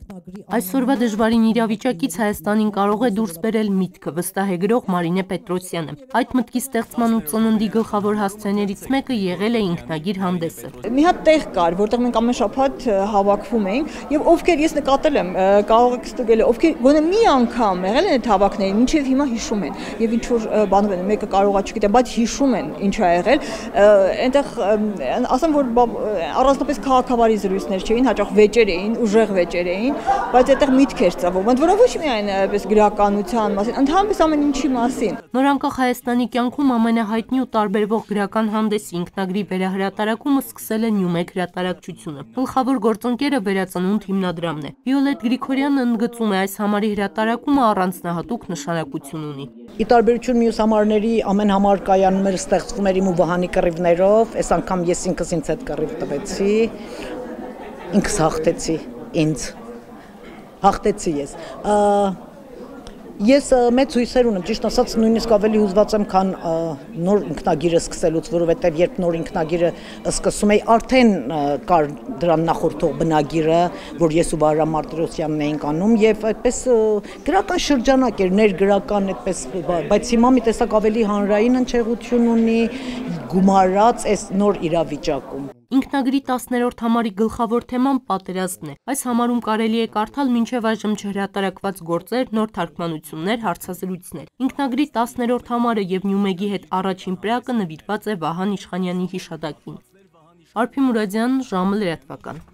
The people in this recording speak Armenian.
Այսօրվա դժվարին իրավիճակից Հայաստանին կարող է դուրս բերել միտքը, վստահ է գրող Մարինե Պետրոսյանը։ Այդ մտքի ստեղծման ու ծննդի գլխավոր հասցեներից մեկը եղել է ինքնագիր հանդեսը։ Մի հատ տեղ կար, որտեղ մենք ամեն շաբաթ հավաքվում էինք, եւ ովքեր ես նկատել եմ, կարող եք ստուգել, ովքեր գոնե մի անգամ եղել են այդ հավաքներին, մինչեւ հիմա հիշում են։ Եվ ինչ որ բաներ են, մեկը կարողա չգիտեմ, բայց հիշում են ինչ ա եղել։ Այնտեղ ասեմ, որ առանձնապես քաղաքավարի զրույցներ չէին, հաճախ վեճեր էին, ուժեղ վեճեր էին, բայց այդտեղ միտք էր ծավալվում, ընդ որում ոչ միայն այպես գրականության մասին, ընդհանրապես ամեն ինչի մասին։ Նորանկախ Հայաստանի կյանքում ամենահայտնի ու տարբերվող գրական հանդեսի ինքնագրի վերահրատարակումը սկսել է Նյումեգ հրատարակչությունը։ Գլխավոր գործընկերը Վերածնունդ հիմնադրամն է։ Վիոլետ Գրիգորյանը ընդգծում է, այս համարի հրատարակումը առանձնահատուկ նշանակություն ունի։ Ի տարբերություն մյուս համարների, ամեն համար կայանում էր, ստեղծվում էր իմ ու Վահանի կռիվներով, այս անգամ ես ինքս ինձ հետ կռիվ տվեցի, ինքս հաղթեցի ինձ։ Հաղթեցի ես։ Ես մեծ հույսեր ունեմ, ճիշտ ասած նույնիսկ ավելի հուզված եմ, քան նոր ինքնագիրը սկսելուց, որովհետև երբ նոր ինքնագիրը սկսում էի, արդեն կար դրան նախորդող բնագիրը, որ ես ու Վահրամ Մարտիրոսյանն էինք անում, եւ այդպես գրական շրջանակ էր, ներգրական այդպես, բայց հիմա մի տեսակ ավելի հանրային հնչեղություն ունի, գումարած այս նոր իրավիճակում։ Ինքնագրի 10-րդ համարի գլխավոր թեման պատերազմն է։ Այս համարում կարելի է կարդալ մինչև այժմ չհրատարակված գործեր, նոր թարգմանություններ, հարցազրույցներ։ Ինքնագրի 10-րդ համարը եւ Նյումեգի հետ առաջին պրակը նվիրված է Վահան Իշխանյանի հիշատակին։ Արփի Մուրադյան, ժամը լրատվական։